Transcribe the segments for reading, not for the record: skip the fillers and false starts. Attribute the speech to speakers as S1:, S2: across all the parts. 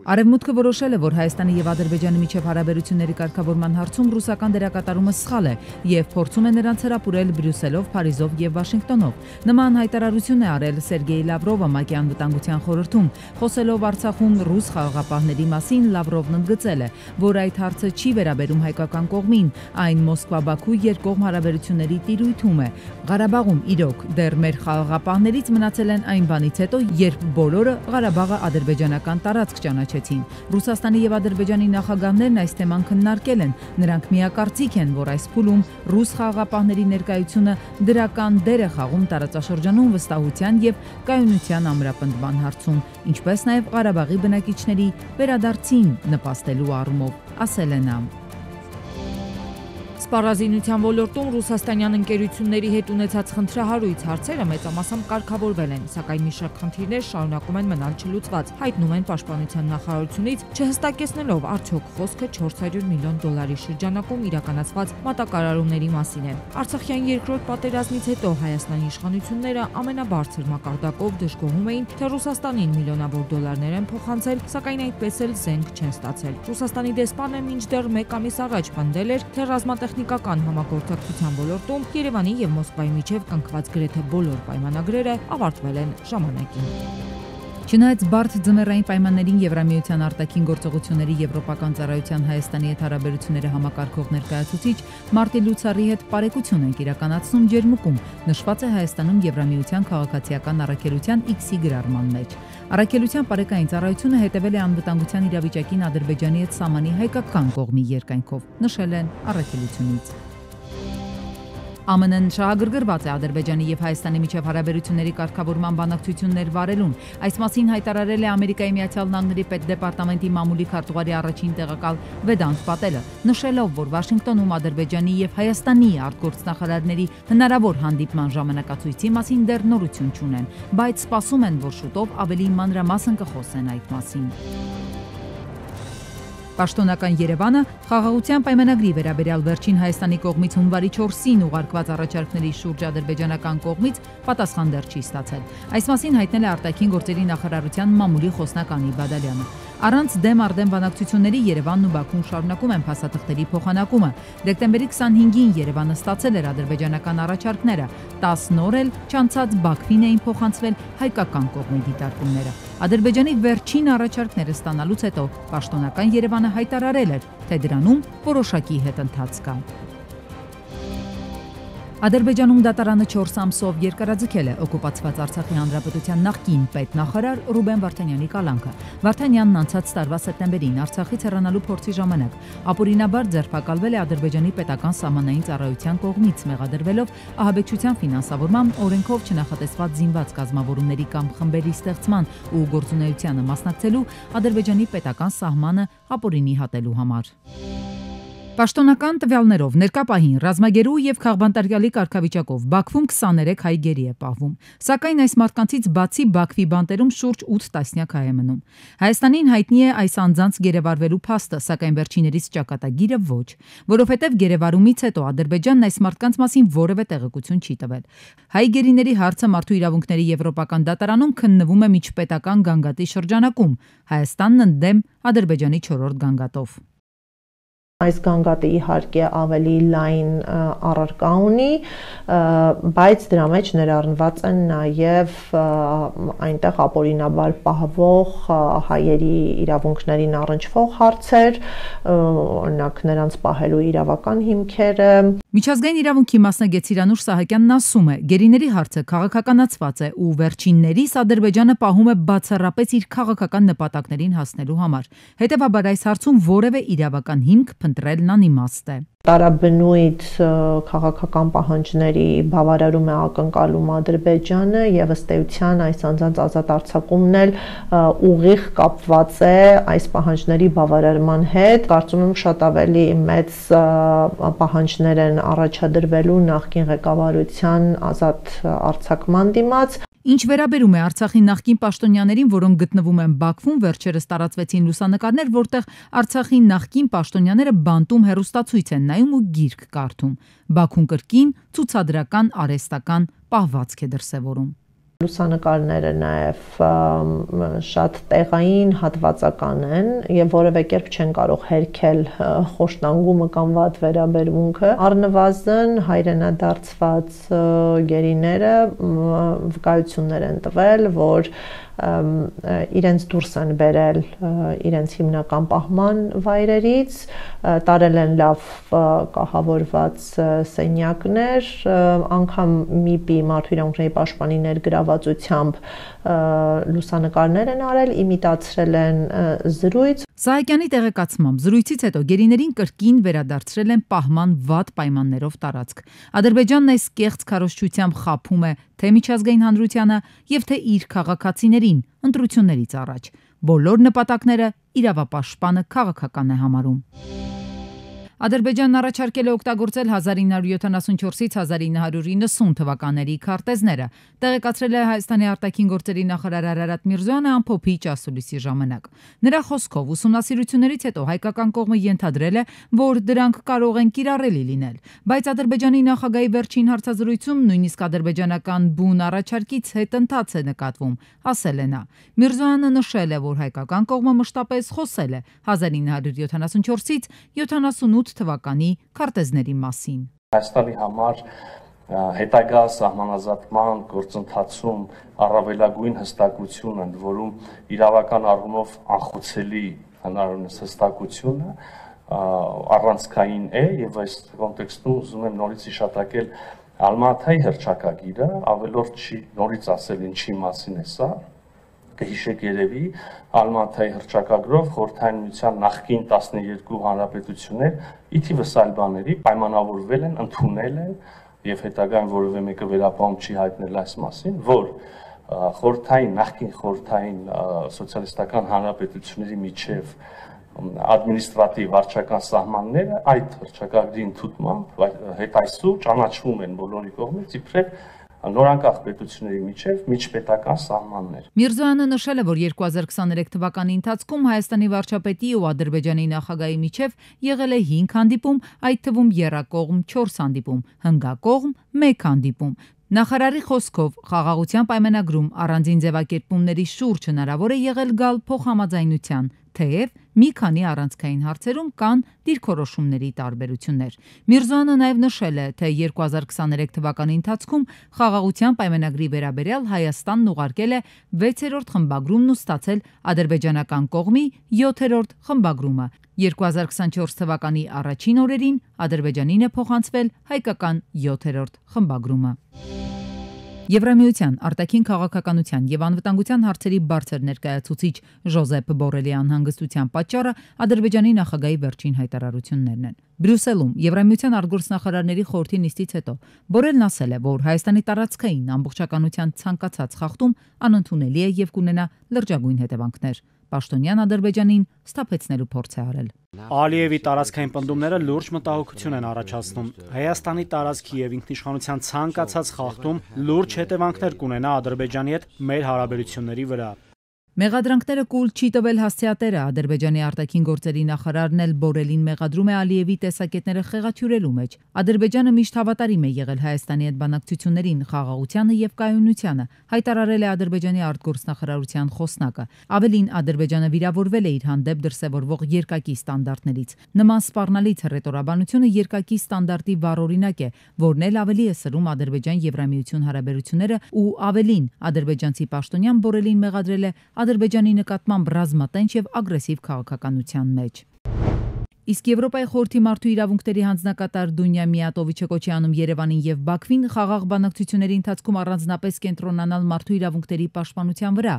S1: Արևմուտքը որոշել է, որ Հայաստանի եւ Ադրբեջանի միջև հարաբերությունների կարգավորման հարցում ռուսական դերակատարումը սխալ է եւ փորձում է նրանց հրապուրել Բրյուսելով, Փարիզով եւ Վաշինգտոնով։ Նման հայտարարություն է արել Սերգեյ Լավրովը ՄԱԿ-ի անվտանգության խորհրդում։ Խոսելով Արցախում ռուս խաղաղապահների մասին, Լավրովն ընդգծել է, որ այդ հարցը չի վերաբերում հայկական կողմին, այն Մոսկվա-Բաքու երկկողմ հարաբերությունների տիրույթում է։ Ղարաբաղում իրոք դեռ մեր խաղաղապահներից մնացել են այն բանից հետո, երբ բոլորը Ղարաբաղը ադրբեջանական տարածք ճանաչեցին։ Ռուսաստանի եւ Ադրբեջանի նախագահներն այս թեման քննարկել են։ Նրանք միակարծիք են, որ այս փուլում ռուս խաղաղապահների ներկայությունը դրական դեր է խաղում տարածաշրջանում վստահության եւ կայունության ամրապնդման հարցում, ինչպես նաեւ Ղարաբաղի բնակիչների վերադարձին նպաստելու առումով, ասել է նա։
S2: Սպառազինության ոլորտում ռուսաստանյան ընկերությունների հետ ունեցած խնդրահարույց հարցերը մեծամասամբ կարգավորվել են, սակայն մի շարք խնդիրներ շարունակում են մնալ չլուծված, հայտնում են Պաշտպանության նախարարությունից, չհստակեցնելով արդյոք խոսքը $400 միլիոն շրջանակում իրականացված մատակարարումների մասին է։ Արցախյան երկրորդ պատերազմից հետո Հայաստանի իշխանությունները ամենաբարձր մակարդակով դժգոհում էին, թե Ռուսաստանին միլիոնավոր դոլարներ են փոխանցել, սակայն այդպես էլ զենք չեն ստացել։ Ռուսաստանի դեսպանը մինչդեռ 1 ամիս առաջ պնդել էր, թե ռազմատեխնիկական համագործակցության ոլորտում Երևանի եւ Մոսկվայի միջև կնքված գրեթե բոլոր պայմանագրերը ավարտվել են ժամանակին։
S1: Չնայած բարդ ձմեռային պայմաններին Եվրամիության արտաքին գործողությունների եվրոպական ծառայության Հայաստանի հետ հարաբերությունները համակարգող ներկայացուցիչ Մարտի Լուցարի հետ պարեկություն ենք իրականացնում Ջերմուկում, նշված է Հայաստանում Եվրամիության քաղաքացիական առաքելության X-ի գրառման մեջ։ Առաքելության պարեկային ծառայությունը հետևել է անվտանգության իրավիճակին Ադրբեջանի հետ սահմանի հայկական կողմի երկայնքով, նշել են առաքելությունից։ ԱՄՆ-ն շահագրգռված է Ադրբեջանի եւ Հայաստանի միջև հարաբերությունների կարգավորման բանակցություններ վարելուն։ Այս մասին հայտարարել է Ամերիկայի Միացյալ Նահանգների պետդեպարտամենտի մամուլի քարտուղարի առաջին տեղակալ Վեդանտ Պատելը, նշելով, որ Վաշինգտոնում Ադրբեջանի եւ Հայաստանի արտգործնախարարների հնարավոր հանդիպման ժամանակացույցի մասին դեռ նորություն չունեն, բայց սպասում են, որ շուտով ավելի մանրամասն կխոսեն այդ մասին։ Պաշտոնական Երևանը խաղաղության պայմանագրի վերաբերյալ վերջին Հայաստանի կողմից հունվարի 4-ին ուղարկված առաջարկների շուրջ ադրբեջանական կողմից պատասխան դեռ չի ստացել։ Այս մասին հայտնել է արտաքին գործերի նախարարության մամուլի խոսնակ Անի Բադալյանը։ Առանց դեմ արդեն բանակցությունների Երևանն ու Բաքուն շարունակում են փաստաթղթերի փոխանակումը։ Դեկտեմբերի 25-ին Երևանը ստացել էր ադրբեջանական առաջարկները, 10 օր էլ չանցած Բաքվին էին փոխանցվել հայկական կողմի դիտարկումները։ Ադրբեջանի վերջին առաջարկները ստանալուց հետո պաշտոնական Երևանը հայտարարել էր, թե դրանում որոշակի հետընթաց կա։ Ադրբեջանում դատարանը 4 ամսով երկարաձգել է օկուպացված Արցախի հանրապետության նախկին պետնախարար Ռուբեն Վարդանյանի կալանքը։ Վարդանյանն անցած տարվա սեպտեմբերին Արցախից հեռանալու փորձի ժամանակ ապօրինաբար ձերբակալվել է Ադրբեջանի պետական սահմանային ծառայության կողմից, մեղադրվելով ահաբեկչության ֆինանսավորման, օրենքով չնախատեսված զինված կազմավորումների կամ խմբերի ստեղծման ու գործունեությանը մասնակցելու Ադրբեջանի պետական սահմանը ապօրինի հատելու համար։ Պաշտոնական տվյալներով ներկա պահին ռազմագերու եւ քաղբանտարկյալի կարգավիճակով Բաքվում 23 հայ գերի է պահվում, սակայն այս մարդկանցից բացի Բաքվի բանտերում շուրջ 8 տասնյակ հայ է մնում։ Հայաստանին հայտնի է այս անձանց գերեվարվելու փաստը, սակայն վերջիներիս ճակատագիրը ոչ, որովհետեւ գերեվարումից հետո Ադրբեջանն այս մարդկանց մասին որևէ տեղեկություն չի տվել։ Հայ գերիների հարցը Մարդու իրավունքների եվրոպական դատարանում քննվում է միջպետական գանգատի շրջանակում, Հայաստանն ընդդեմ Ադրբեջանի 4-րդ գանգատով։
S3: Այս գանգատը իհարկե ավելի լայն առարկա ունի, բայց դրա մեջ ներառնված են նաև այնտեղ ապօրինաբար պահվող հայերի իրավունքներին առնչվող հարցեր, օրինակ նրանց պահելու իրավական հիմքերը։
S1: Միջազգային իրավունքի մասնագետ Սիրանուշ Սահակյանն ասում է, գերիների հարցը քաղաքականացված է ու վերջիններիս Ադրբեջանը պահում է բացառապես իր քաղաքական նպատակներին հասնելու համար։ Հետևաբար այս հարցում որևէ իրավական հիմք փնտրելն անիմաստ է։
S3: Տարաբնույթ քաղաքական պահանջների բավարարում է ակնկալում Ադրբեջանը եւ ըստ էության այս անձանց ազատ արձակումն էլ ուղիղ կապված է այս պահանջների բավարարման հետ։ Կարծում եմ շատ ավելի մեծ պահանջներ են առաջադրվելու նախկին ղեկավարության ազատ արձակման դիմաց։
S1: Ինչ վերաբերում է Արցախի նախկին պաշտոնյաներին, որոնք գտնվում են Բաքվում, վերջերս տարածվեցին լուսանկարներ, որտեղ Արցախի նախկին պաշտոնյաները բանտում հեռուստացույց են նայում ու գիրք կարդում։ Բաքուն կրկին ցուցադրական արհեստական պահվածք է դրսևորում։
S3: Լուսանկարները նաև շատ տեղային հատվածական են եւ որևէ կերպ չեն կարող հերքել խոշտանգումը կամ վատ վերաբերմունքը։ Առնվազն հայրենադարձված գերիները վկայություններ են տվել, որ իրենց դուրս են բերել իրենց հիմնական պահման վայրերից, տարել են լավ կահավորված սենյակներ, անգամ ՄԻՊ-ի Մարդու իրավունքների պաշտպանի ներգրավվածությամբ լուսանկարներ են արել, իմիտացրել են զրույց։
S1: Սահակյանի տեղեկացմամբ զրույցից հետո գերիներին կրկին վերադարձրել են պահման վատ պայմաններով տարածք։ Ադրբեջանն այս կեղծ քարոզչությամբ խաբում է թե միջազգային հանրությանը եւ թե իր քաղաքացիներին ընտրություններից առաջ։ Բոլոր նպատակները իրավապաշտպանը քաղաքական է համարում։ Ադրբեջանն առաջարկել է օգտագործել 1974-ից 1990 թվականների քարտեզները, տեղեկացրել է Հայաստանի արտաքին գործերի նախարար Արարատ Միրզոյանը ամփոփիչ ասուլիսի ժամանակ։ Նրա խոսքով ուսումնասիրություններից հետո հայկական կողմը ենթադրել է, որ դրանք կարող են կիրառելի լինել, բայց Ադրբեջանի նախագահի վերջին հարցազրույցում նույնիսկ ադրբեջանական բուն առաջարկից հետընթաց է նկատվում, ասել է նա։ Միրզոյանը նշել է, որ հայկական կողմը մշտապես խոսել է 1974-ից 78 թվականի քարտեզների մասին։
S4: Հայաստանի համար հետագա սահմանազատման գործընթացում առավելագույն հստակություն են, որում իրավական առումով անխոցելի հնարավորինս հստակությունը առանցքային է եւ այս կոնտեքստում ուզում եմ նորից հիշատակել Ալմատայի հռչակագիրը, ավելորդ չի նորից ասել ինչի մասին է սա։ Կհիշեք երևի Ալմատայի հռչակագրով Խորհրդային Միության նախկին 12 հանրապետություններ ի թիվս այլ բաների պայմանավորվել են, ընդունել են եւ հետագայում որևէ մեկը վերապահում չի հայտնել այս մասին, որ նախկին խորհրդային սոցիալիստական հանրապետությունների միջև ադմինիստրատիվ վարչական սահմանները այդ հռչակագրի ընդունմամբ հետայսու ճանաչվում են բոլորի կողմից իբրև նորանկախ պետությունների միջև միջպետական սահմաններ։
S1: Միրզոյանը նշել է, որ 2023 թվականի ընթացքում Հայաստանի վարչապետի ու Ադրբեջանի նախագահի միջև եղել է 5 հանդիպում, այդ թվում եռակողմ 4 հանդիպում, հնգակողմ 1 հանդիպում։ Նախարարի խոսքով խաղաղության պայմանագրում առանձին ձևակերպումների շուրջ հնարավոր է եղել գալ փոխհամաձայնության, թեև մի քանի առանցքային հարցերում կան դիրքորոշումների տարբերություններ։ Միրզոյանը նաև նշել է, թե 2023 թվականի ընթացքում խաղաղության պայմանագրի վերաբերյալ Հայաստանն ուղարկել է 6-րդ խմբագրումն ու ստացել ադրբեջանական կողմի 7-րդ խմբագրումը։ 2024 թվականի առաջին օրերին Ադրբեջանին է փոխանցվել հայկական 7-րդ խմբագրումը։ Եվրամիության արտաքին քաղաքականության եւ անվտանգության հարցերի բարձր ներկայացուցիչ Ժոզեփ Բորելի անհանգստության պատճառը Ադրբեջանի նախագահի վերջին հայտարարություններն են։ Բրյուսելում Եվրամիության արտգործնախարարների խորհրդի նիստից հետո Բորելն ասել է, որ Հայաստանի տարածքային ամբողջականության ցանկացած խախտում անընդունելի է եւ կունենա լրջագույն հետևանքներ։ Պաշտոնյան Ադրբեջանին սթափեցնելու փորձ է արել։
S5: Ալիևի տարածքային պնդումները լուրջ մտահոգություն են առաջացնում։ Հայաստանի տարածքի եւ ինքնիշխանության ցանկացած խախտում լուրջ հետևանքներ կունենա Ադրբեջանի հետ մեր հարաբերությունների վրա։
S1: Մեղադրանքները կուլ չի տվել հասցեատերը, Ադրբեջանի արտաքին գործերի նախարարն էլ Բորելին մեղադրում է Ալիևի տեսակետները խեղաթյուրելու մեջ։ Ադրբեջանը միշտ հավատարիմ է եղել Հայաստանի հետ բանակցություններին, խաղաղությանը եւ կայունությանը, հայտարարել է Ադրբեջանի արտգործնախարարության խոսնակը։ Ավելին, Ադրբեջանը վիրավորվել է իր հանդեպ դրսևորվող երկակի ստանդարտներից։ Նման սպառնալից հռետորաբանությունը երկակի ստանդարտի վառօրինակ է, որն էլ ավելի է սրում Ադրբեջան-Եվրամիություն հարաբերությունները ու ավելին, ադրբեջանցի պաշտոնյան Բորելին մեղադրել է Ադրբեջանի նկատմամբ ռազմատենչ եւ ագրեսիվ քաղաքականության մեջ։ Իսկ Եվրոպայի խորհրդի մարդու իրավունքների հանձնակատար Դունյա Միատովիչը կոչ է անում Երևանին եւ Բաքվին խաղաղ բանակցությունների ընթացքում առանձնապես կենտրոնանալ մարդու իրավունքների պաշտպանության վրա։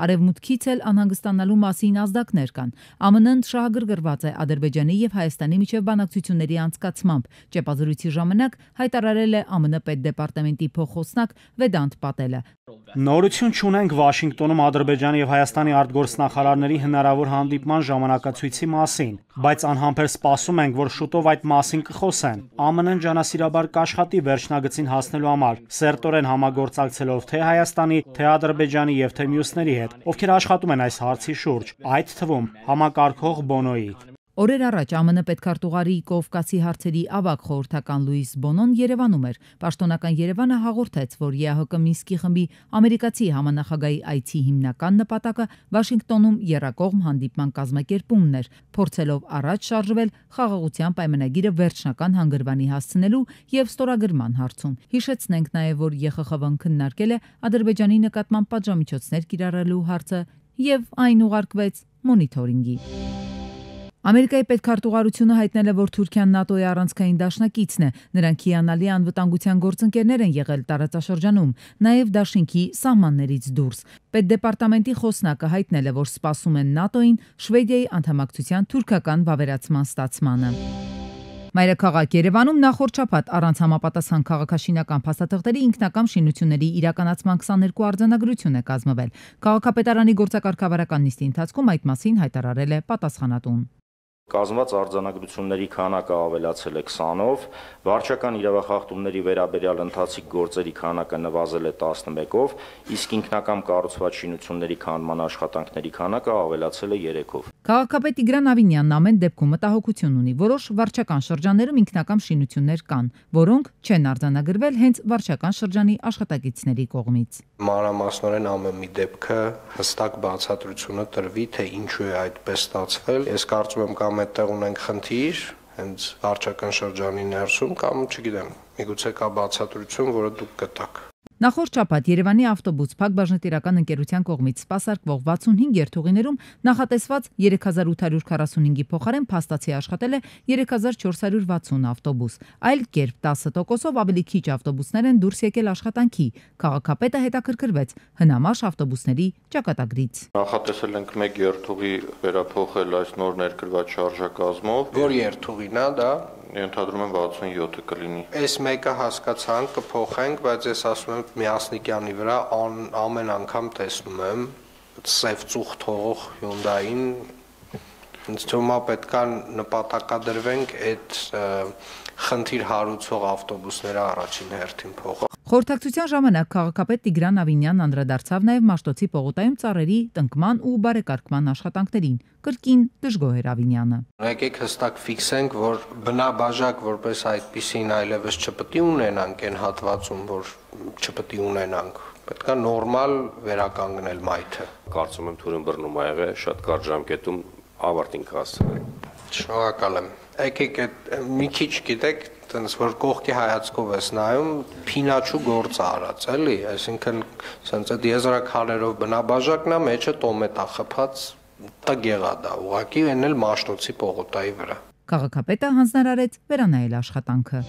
S1: Արևմուտքից էլ անհանգստանալու մասին ազդակներ կան։ ԱՄՆ-ն շահագրգռված է Ադրբեջանի եւ Հայաստանի միջև բանակցությունների անցկացմամբ։ Ճեպազրույցի ժամանակ հայտարարել է ԱՄՆ պետդեպարտամենտի փոխխոսնակ Վեդանտ Պատելը։
S5: Նորություն չունենք Վաշինգտոնում Ադրբեջանի եւ Հայաստանի արտգործնախարարների հնարավոր հանդիպման ժամանակացույցի մասին, բայց անհամբեր սպասում ենք, որ շուտով այդ մասին կխոսեն։ ԱՄՆ-ն ջանասիրաբար կաշխատի վերջնագծին հասնելու համար, սերտորեն համագործակցելով թե Հայաստանի, թե Ադրբեջանի եւ թե մյուսների հետ, ովքեր աշխատում են այս հարցի շուրջ, այդ թվում համակարգող Բոնոյի։
S1: Օրեր առաջ ԱՄՆ պետքարտուղարի Կովկասի հարցերի ավագ խորհրդական Լուիս Բոնոն Երևանում էր։ Պաշտոնական Երևանը հաղորդեց, որ ԵԱՀԿ Մինսկի խմբի ամերիկացի համանախագահի այցի հիմնական նպատակը Վաշինգտոնում եռակողմ հանդիպման կազմակերպումն էր, փորձելով առաջ շարժվել խաղաղության պայմանագիրը վերջնական հանգրվանի հասցնելու եւ ստորագրման հարցում։ Հիշեցնենք նաեւ, որ ԵԽԽՎ-ն քննարկել է Ադրբեջանի նկատմամբ պատժամիջոցներ կիրառելու հարցը եւ այն ուղարկվեց մոնիթորինգի։ Ամերիկայի պետքարտուղարությունը հայտնել է, որ Թուրքիան ՆԱՏՕ-ի առանցքային դաշնակիցն է, նրանք հիանալի անվտանգության գործընկերներ են եղել տարածաշրջանում, նաև դաշինքի սահմաններից դուրս։ Պետդեպարտամենտի խոսնակը հայտնել է, որ սպասում են ՆԱՏՕ-ին Շվեդիայի անդամակցության թուրքական վավերացման ստացմանը։ Մայրաքաղաք Երևանում նախորդ շաբաթ առանց համապատասխան քաղաքաշինական փաստաթղթերի ինքնակամ շինությունների իրականացման 22 արձանագրություն է կազմվել։ Քաղաքապետարանի գործակարգավարական նիստի ընթացքում այդ մասին հայտարարել է պատասխանատուն։
S6: Կազմված արձանագրությունների քանակը ավելացել է 20-ով, վարչական իրավախախտումների վերաբերյալ ընթացիկ գործերի քանակը նվազել է 11-ով, իսկ ինքնակամ կառուցված շինությունների քանդման աշխատանքների քանակը ավելացել է 3-ով։
S1: Քաղաքապետ Տիգրան Ավինյանն ամեն դեպքում մտահոգություն ունի, որոշ վարչական շրջաններում ինքնակամ շինություններ կան, որոնք չեն արձանագրվել հենց վարչական շրջանի աշխատակիցների կողմից։
S7: Մանրամասնորեն ամեն մի դեպքը հստակ բացատրությունը տրվի, թե ինչու է այդպես ստացվել։ Ես կարծում եմ կամ այդտեղ ունենք խնդիր հենց վարչական շրջանի ներսում կամ չգիտեմ, միգուցե կա բացատրություն, որը դուք գտաք։
S1: Նախորդ շաբաթ Երևանի ավտոբուս Փակ բաժնետիրական ընկերության կողմից սպասարկվող 65 երթուղիներում նախատեսված 3845-ի փոխարեն փաստացի աշխատել է 3460 ավտոբուս։ Այլ կերպ 10%-ով ավելի քիչ ավտոբուսներ են դուրս եկել աշխատանքի։ Քաղաքապետը հետաքրքրվեց հնամաշ ավտոբուսների ճակատագրից։
S8: Նախատեսել ենք 1 երթուղի վերափոխել այս նոր ներկրված շարժակազմով։
S7: Որ երթուղին է դա։
S8: Ենթադրում եմ 67-ը կլինի։
S7: Այս մեկը հասկացանք, կփոխենք, բայց ես ասում եմ Միասնիկյանի վրա ամեն անգամ տեսնում եմ սև ծուխ թողող Hyundai-ին, ինձ թվում է պետք է նպատակադրվենք այդ խնդիր հարուցող ավտոբուսները առաջին հերթին փոխել։
S1: Խորհրդակցության ժամանակ քաղաքապետ Տիգրան Ավինյանն անդրադարձավ նաև Մաշտոցի պողոտայում ծառերի տնկման ու բարեկարգման աշխատանքներին։ Կրկին դժգոհ էր Ավինյանը։
S7: Եկեք հստակ ֆիքսենք, որ բնաբաժակ որպես այդպիսին այլևս չպետք է ունենանք այն հատվածում, որ չպետք է ունենանք։ Պետք է նորմալ վերականգնել մայթը։
S8: Կարծում եմ թուրին բռնում ա եղել, շատ կարճ ժամկետում ավարտին կհասցնել։
S7: Շնորհակալ եմ։ Եկեք մի քիչ գիտեք, տենց որ կողքի հայացքով ես նայում, փինաչու գործ արած, էլի, այսինքն սենց այդ եզրաքարերով բնաբաժակն է, մեջը տոմետ է խփած, տգեղա դա, ուղղակի այն էլ Մաշտոցի պողոտայի վրա։
S1: Քաղաքապետը հանձնարարեց վերանայել աշխատանքը։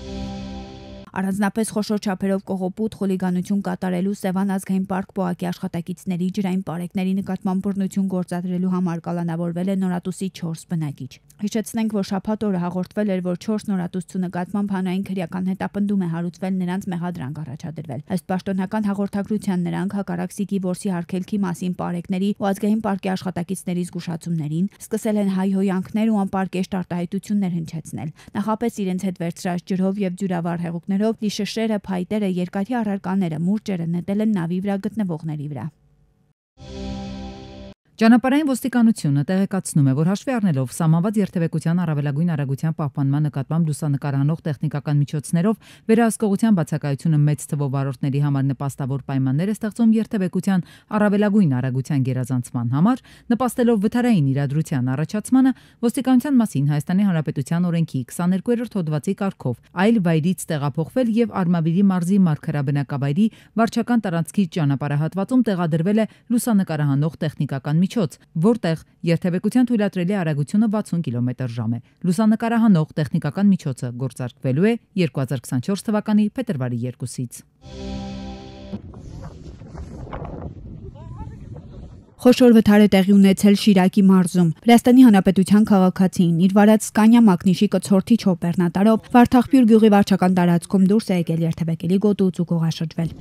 S9: Առանձնապես խոշոր չափերով կողոպուտ խուլիգանություն կատարելու Սևան ազգային պարկ պոակի աշխատակիցների ջրային պարեկների նկատմամբ բռնություն գործադրելու համար կալանավորվել է նորատուսի 4 բնակիչ։ Հիշեցնենք, որ շաբաթ օրը հաղորդվել էր, որ 4 նորատուսցու նկատմամբ հանրային քրեական հետապնդում է հարուցվել, նրանց մեղադրանք առաջադրվել։ Ըստ պաշտոնական հաղորդագրության նրանք հակառակսիկի որսի հարգելքի մասին պարեկների ու ազգային պարկի աշխատակիցների զգուշացումներին սկսել են հայհոյանքներ ու անպարկեշտ արտահայտություններ հնչեցնել։ Նախապես իրենց հետ վերցրած ջրով եւ ջուրավար հեղուկներով լիշշերը, փայտերը, երկաթի առարկաները, մուրճերը նետել են նավի վրա գտնվողների վրա։
S1: Ճանապարհային ոստիկանությունը տեղեկացնում է, որ հաշվի առնելով սահմանված երթևեկության առավելագույն արագության պահպանման նկատմամբ լուսանկարանող տեխնիկական միջոցներով վերահսկողության բացակայությունը մեծ թվով վարորդների համար նպաստավոր պայմաններ է ստեղծում երթևեկության առավելագույն արագության գերազանցման համար, նպաստելով վթարային իրադրության առաջացմանը, ոստիկանության մասին Հայաստանի Հանրապետության օրենքի 22-րդ հոդվածի կարգով այլ վայրից տեղափոխվել եւ Արմավիրի մարզի Մարգարաբնակավայրի վարչական տարածքի ճանապարհահատվածում տեղադրվել է լուսանկարահանող տեխնիկական միջոց, որտեղ երթևեկության թույլատրելի արագությունը 60 կմ/ժ է։ Լուսանկարահանող տեխնիկական միջոցը գործարկվելու է 2024 թվականի փետրվարի 2-ից։
S9: Խոշոր վթար է տեղի ունեցել Շիրակի մարզում։ Վրաստանի Հանրապետության քաղաքացին իր վարած Սկանիա մակնիշի կցորդի չոպերնատարով Վարդաղբյուր գյուղի վարչական տարածքում դուրս է եկել երթևեկելի գոտուց ու գողաշրջվել։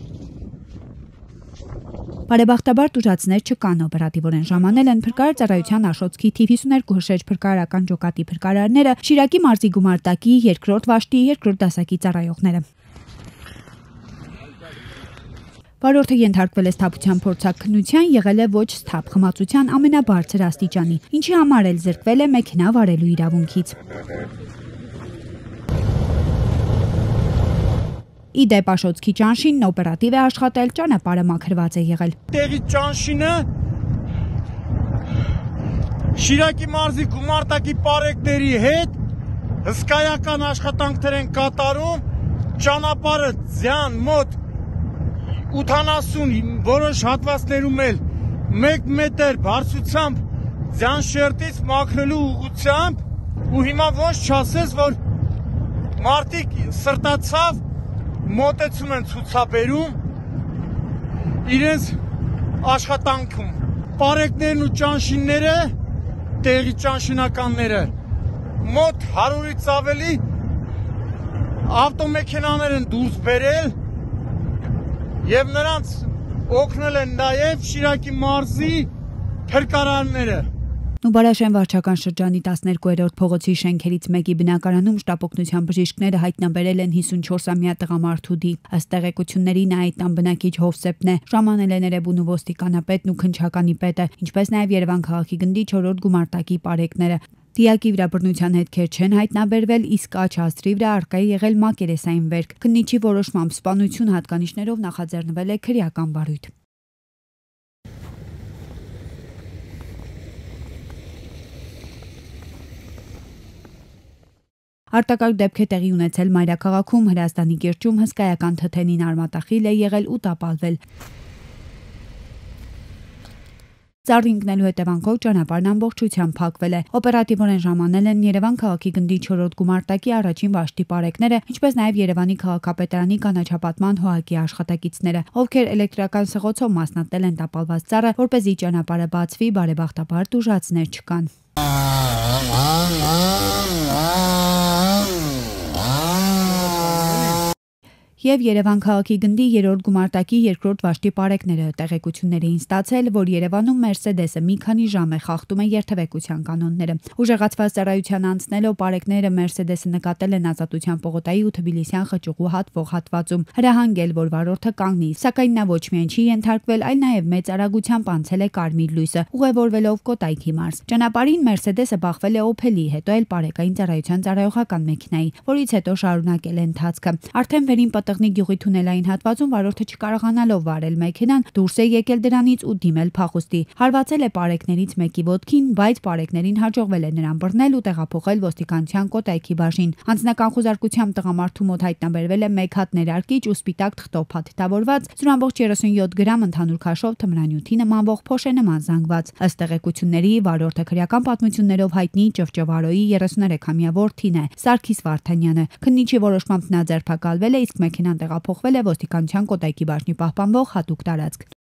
S9: Բարեբախտաբար տուժածներ չկան, օպերատիվորեն ժամանել են փրկարար ծառայության Աշոտսքի թիվ 52 հրշեջ փրկարարական ջոկատի փրկարարները, Շիրակի մարզի գումարտակի 2-րդ վաշտի 2-րդ դասակի ծառայողները։ Վարորդը ենթարկվել է սթափության փորձաքննության, եղել է ոչ սթափ խմացության ամենաբարձր աստիճանի, ինչի համար էլ զրկվել է մեքենա վարելու իրավունքից։ Ի դեպ Աշոտսկի ճանշինն օպերատիվ է աշխատել, ճանապարհը մաքրված է եղել։
S10: Տեղի ճանշինը Շիրակի մարզի գումարտակի պարեկների հետ հսկայական աշխատանքներ են կատարում, ճանապարհը ձյան մոտ 80 որոշ հատվածներում էլ 1 մետր բարձրությամբ ձյան շերտից մաքրելու ուղղությամբ ու հիմա ոչ չասես, որ մարդիկ սրտացավ մոտեցում են ցուցաբերում իրենց աշխատանքում։ Պարեկներն ու ճանշինները, տեղի ճանշինականները մոտ 100-ից ավելի ավտոմեքենաներ են դուրս բերել եւ նրանց օգնել են նաեւ Շիրակի մարզի փրկարարները։
S9: Նուբարաշեն վարչական շրջանի 12-րդ փողոցի շենքերից մեկի բնակարանում շտապօգնության բժիշկները հայտնաբերել են 54-ամյա տղամարդու դի։ Ըստ տեղեկությունների նա այդ տան բնակիչ Հովսեփն է, ժամանել է Էրեբունու ոստիկանապետն ու քննչականի պետը, ինչպես նաեւ Երևան քաղաքի գնդի 4-րդ գումարտակի պարեկները։ Դիակի վրա բռնության հետքեր չեն հայտնաբերվել, իսկ աջ հաստրի վրա առկա է եղել մակերեսային վերք։ Քննիչի որոշմամբ սպանություն հատկանիշներով նախաձեռնվել է քրեական վարույթ։ Արտակարգ դեպք է տեղի ունեցել Մայրաքաղաքում, Հրազդանի կիրճում հսկայական թթենին արմատախիլ է եղել ու տապալվել։ Ծառ ընկնելու հետևանքով ճանապարհն ամբողջությամբ փակվել է։ Օպերատիվորեն ժամանել են Երևան քաղաքի գնդի 4-րդ գումարտակի առաջին վաշտի պարեկները, ինչպես նաև Երևանի քաղաքապետարանի կանաչապատման հողակի աշխատակիցները, ովքեր էլեկտրական սղոցով մասնատել են տապալված ծառը, որպեսզի ճանապարհը բացվի, բարեբախտաբար տուժածներ չկան։ Եվ Երևան քաղաքի գնդի 3-րդ գումարտակի 2-րդ վաշտի պարեկները տեղեկությունների էին ստացել, որ Երևանում Մերսեդեսը մի քանի ժամ է խախտում է երթևեկության կանոնները։ Ուժեղացված ծառայության անցնելով պարեկները Մերսեդեսը նկատել են Ազատության պողոտայի ու Թբիլիսյան խճուղու հատվող հատվածում, հրահանգել, որ վարորդը կանգնի, սակայն նա ոչ միայն չի ենթարկվել, այլ նաև մեծ արագությամբ անցել է կարմիր լույսը, ուղևորվելով Կոտայքի մարզ։ Ճանապարհին Մերսեդեսը բախվել է Օփելի, հետո էլ պարեկային ծառայության ծառայողական մեքենայի, որից հետո շարունակել է ընթացքը։ Արդեն վերին Տղնի գյուղի թունելային հատվածում վարորդը չկարողանալով վարել մեքենան դուրս է եկել դրանից ու դիմել փախուստի։ Հարվածել է պարեկներից մեկի ոտքին, բայց պարեկներին հաջողվել է նրան բռնել ու տեղափոխել ոստիկանության Կոտայքի բաժին։ Անձնական խուզարկությամբ տղամարդու մոտ հայտնաբերվել է 1 հատ ներարկիչ ու սպիտակ թղթով փաթեթավորված 0.37 գրամ ընդհանուր քաշով թմրանյութի նմանվող փոշե նման զանգված։ Ըստ տեղեկությունների վարորդը քրեական պատմություններով հայտնի Ճվճվարոյի 33-ամյա որդին է, Սարգիս Վարդանյանը։ Քննիչի որոշմամբ նա ձերբակալվել է, իսկ մեքենան տեղափոխվել է ոստիկանության Կոտայքի բաժնի պահպանվող հատուկ տարածք։